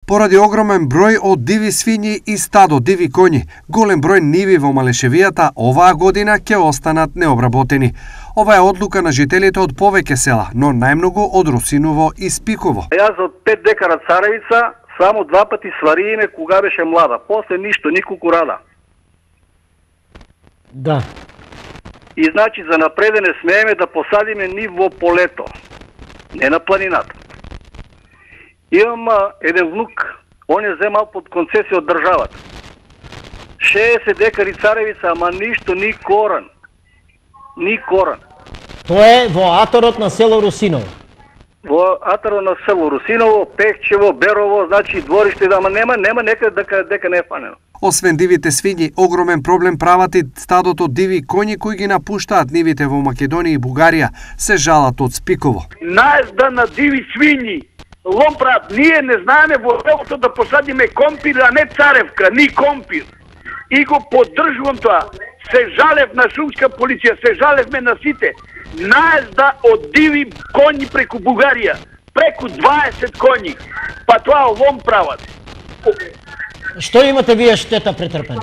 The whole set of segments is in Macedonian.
Поради огромен број од диви свињи и стадо диви коњи, голем број ниви во Малешевијата оваа година ќе останат необработени. Ова е одлука на жителите од повеќе села, но најмногу од Русиново и Спиково. Јас од 5 декара царевица само 2 пати свариме кога беше млада. После ништо, николку рада. Да. И значи за напреде не смееме да посадиме ни во полето, не на планината. Имам еден внук, он е земал под концесија од државата. 60 декари царевица, ама ништо, ни коран. Ни коран. Тоа е во аторот на село Русиново. Во аторот на село Русиново, Пехчево, Берово, значи двориште, ама нема некаде дека не е фанено. Освен дивите свињи, огромен проблем прават и стадото диви коњи кои ги напуштаат нивите во Македонија и Бугарија, се жалат од Спиково. Наезда на диви свињи, ломпрат, ние не знаеме во селото да посадиме компир, а не царевка, ни компир. И го поддржувам тоа. Се жалев на шумска полиција, се жалевме на сите. Наезда од диви коњи преку Бугарија, преку 20 коњи. Па тоа лом прават. Што имате вие штета претрпена?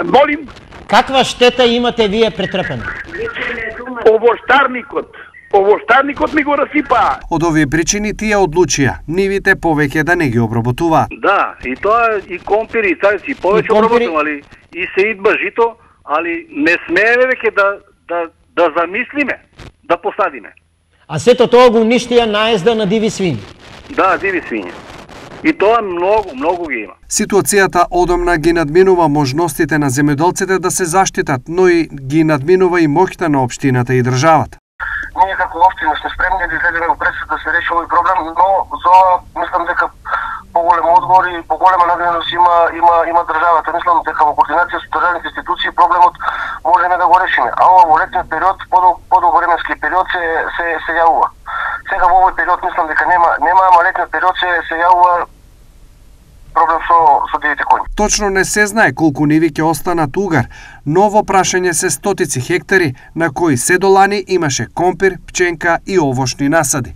Молим? Каква штета имате вие претрпена? Овоштарникот ми го расипаа. Од овие причини тие одлучија нивите повеќе да не ги обработуваат. Да, и тоа и компири и царици повеќе обработували и се идба жито, али не смееме веќе да замислиме да посадиме. А сето тоа го уништија наезда на диви свињи. Да, диви свињи. И тоа многу ги има. Ситуацијата одамна ги надминува можностите на земјоделците да се заштитат, но и ги надминува и моќта на општината и државата. Ние како општина сме спремни да излеземе во пресед да се реши овој проблем, но за мислам дека поголем одговор и поголема надвиност има државата. Мислам дека во координација со државните институции проблемот можеме да го решиме. А ова во летниот период, подолго временски период се јавува. Сега во овој период мислам дека нема, ама летниот период се јавува проблем со дивите коњи. Точно не се знае колку ниви ќе останат угар, но во прашање се стотици хектари на кои се до лани имаше компир, пченка и овошни насади.